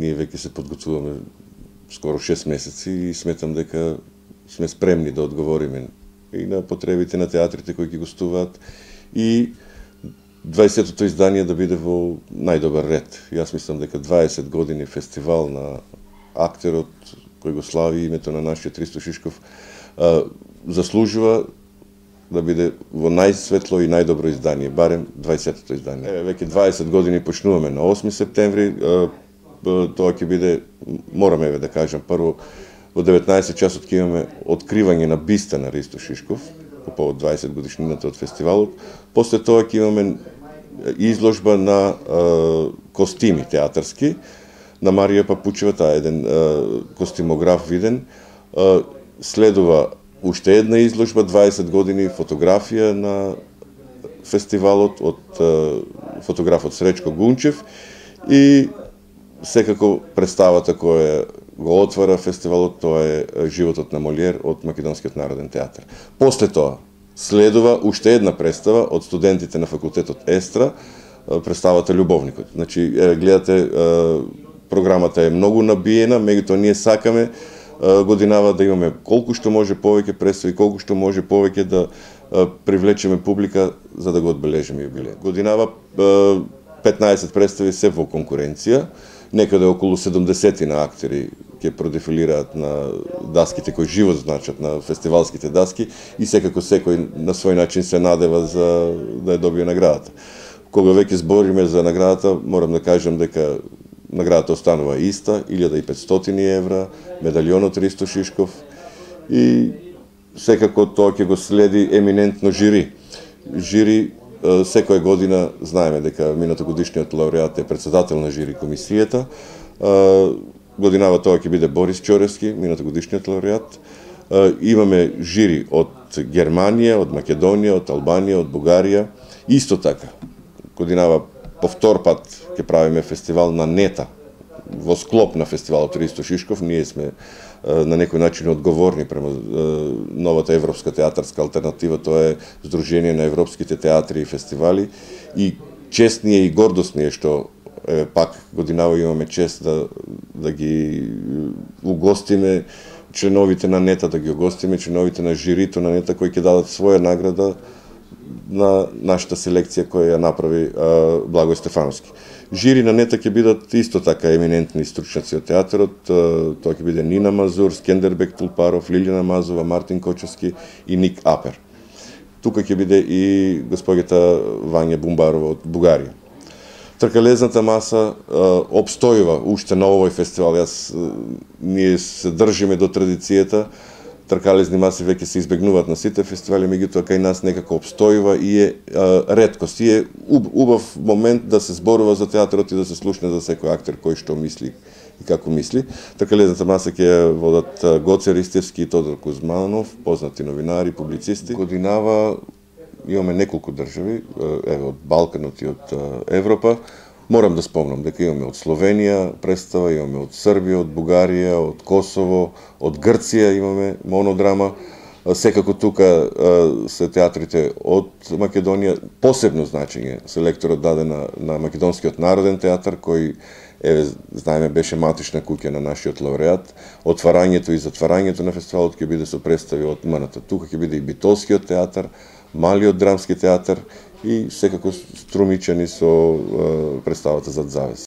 ние веќе се подготвуваме скоро 6 месеци и сметам дека сме спремни да одговориме и на потребите на театрите кои ги гостуваат и 20-тото издание да биде во најдобар ред. Јас мислам дека 20 години фестивал на актерот кој го слави името на нашиот Ристо Шишков заслужува да биде во најсветло и најдобро издание, барем 20-тото издание. Веќе 20 години почнуваме на 8 септември, тоа ќе биде, мораме да кажам, прво во 19 часот ќе имаме откривање на биста на Ристо Шишков, по повод 20 годишнината од фестивалот. После тоа ќе имаме изложба на костими театарски, на Марија Папучева, таа е еден костимограф виден. Следува уште една изложба, 20 години фотографија на фестивалот од фотографот Сречко Гунчев и секако представата која го отвара фестивалот, тоа е Животот на Молиер од Македонскиот народен театар. После тоа следува уште една представа од студентите на факултетот Естра, представата Љубовникот. Значи, гледате, програмата е многу набиена, меѓутоа ние сакаме годинава да имаме колку што може повеќе представи, колку што може повеќе да привлечеме публика за да го одбележиме јубилеј. Годинава 15 представи се во конкуренција, некаде околу 70 на актери ќе продефилираат на даските кои живот значат на фестивалските даски и секако секој на свој начин се надева за да ја добие наградата. Кога веќе збориме за наградата, морам да кажам дека наградата останува иста, 1500 евра, медалјонот Ристо Шишков и секако тоа ќе го следи еминентно жири. Жири секоја година знаеме дека минатогодишниот лауреат е председател на жири комисијата. Годинава тоа ќе биде Борис Чоревски, минатогодишниот лауреат. Имаме жири од Германија, од Македонија, од Албанија, од Бугарија. Исто така, годинава по втор пат ќе правиме фестивал на Нета, во склоп на фестивалот Ристо Шишков. Ние сме на некој начин одговорни према новата европска театарска алтернатива, тоа е Сдружение на европските театри и фестивали и чест ни е и гордост ни е што пак годинава имаме чест да ги угостиме членовите на Нета, да ги угостиме членовите на жирито на Нета кои ќе дадат своја награда на нашата селекција која ја направи Благој Стефановски. Жири на Нета ќе бидат исто така еминентни стручњаци од театарот, тоа ќе биде Нина Мазур, Скендербек Тулпаров, Лилјана Мазова, Мартин Кочевски и Ник Апер. Тука ќе биде и господјата Вања Бумбарова од Бугарија. Тркалезната маса обстојува уште на овој фестивал. Ние се држиме до традицијата. Тркалезни маси веќе се избегнуваат на сите фестивали, меѓутоа кај нас некако обстојува и е реткост. И е убав момент да се зборува за театарот и да се слушне за секој актер кој што мисли и како мисли. Тркалезната маса ќе ја водат Гоце Ристевски и Тодор Кузманов, познати новинари, публицисти. Годинава имаме неколку држави, од Балканот и од Европа. Морам да спомнам дека имаме од Словенија представа, имаме од Србија, од Бугарија, од Косово, од Грција имаме монодрама. Секако тука се театрите од Македонија. Посебно значење селекторот даде на Македонскиот народен театар, кој, знаеме, беше матична куќа на нашиот лауреат. Отварањето и затварањето на фестивалот ќе биде со представи од МНТ. Тука ќе биде и Битолскиот театар, Малиот драмски театар и секако Струмичани со представата Зад завес.